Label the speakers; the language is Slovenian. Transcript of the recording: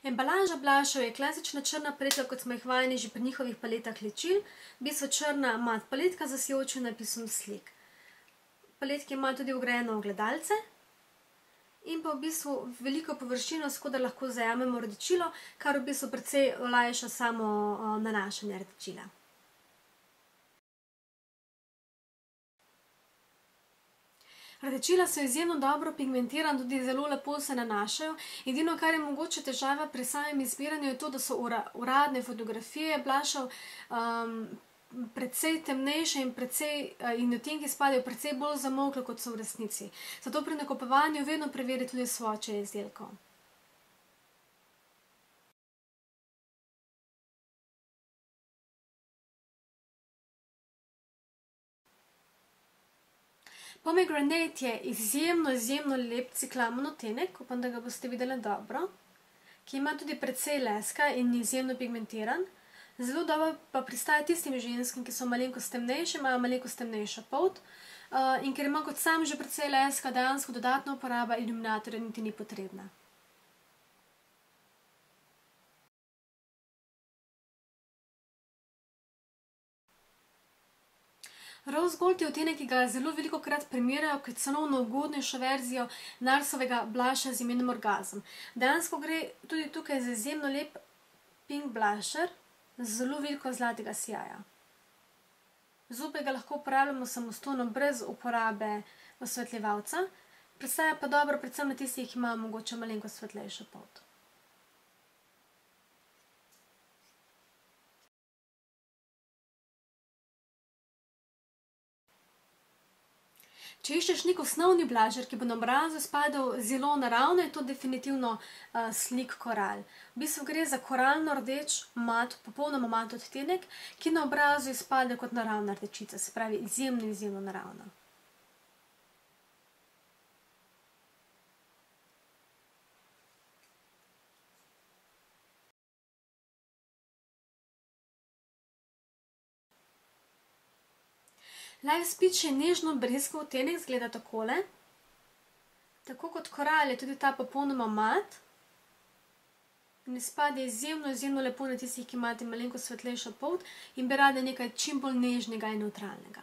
Speaker 1: Embalaža blushov je klasična črna paletka, kot smo jih vajeni že pri njihovih paletah ličil. V bistvu črna mat paletka z sijočim napisom slik. Paletki ima tudi vgrajeno ogledalce in pa v bistvu veliko površino, s katero lahko zajamemo rdečilo, kar v bistvu precej olajša samo nanašanje rdečila. Rdečila so izjemno dobro pigmentirana, tudi zelo lepo se nanašajo. Edino, kar je mogoče težava pri samem izbiranju, je to, da so uradne fotografije blushov precej temnejše in odtenki spadajo precej bolj zamolkle, kot so v resnici. Zato pri nakupovanju vedno preveri tudi svoče izdelkov. Pomegranate je izjemno lep ciklamen odtenek, upam, da ga boste videli dobro, ki ima tudi precej leska in izjemno pigmentiran. Zelo dobro pa pristaja tistim ženskim, ki so malenkost temnejše, imajo malenkost temnejšo polt in ker ima kot sam že precej leska, dejansko dodatna uporaba iluminatorja niti ni potrebna. Rose Gold je odtenek, ki ga zelo velikokrat primerjajo kot cenovno ugodnejšo verzijo Narsovega blusha z imenom Orgasm. Dejansko gre tudi tukaj za izjemno lep pink blusher z zelo veliko zlatega sijaja. Zopet ga lahko uporabljamo samostojno brez uporabe osvetljevalca, pristaja pa dobro predvsem na tistih, ki imajo mogoče malenkost svetlejšo polt. Če iščeš nek osnovni blusher, ki bo na obrazu spadal zelo naravno, je to definitivno Sleek Coral. V bistvu gre za koralno rdeč mat, popolnoma mat odtenek, ki na obrazu izpade kot naravna rdečica, se pravi izjemno naravna. Live Speech je nežno breskov odtenek, izgleda takole. Tako kot koral je tudi ta popolnoma mat in izpade izjemno lepo na tistih, ki imate malenkost svetlejšo polt in bi radi nekaj čim bolj nežnega in nevtralnega.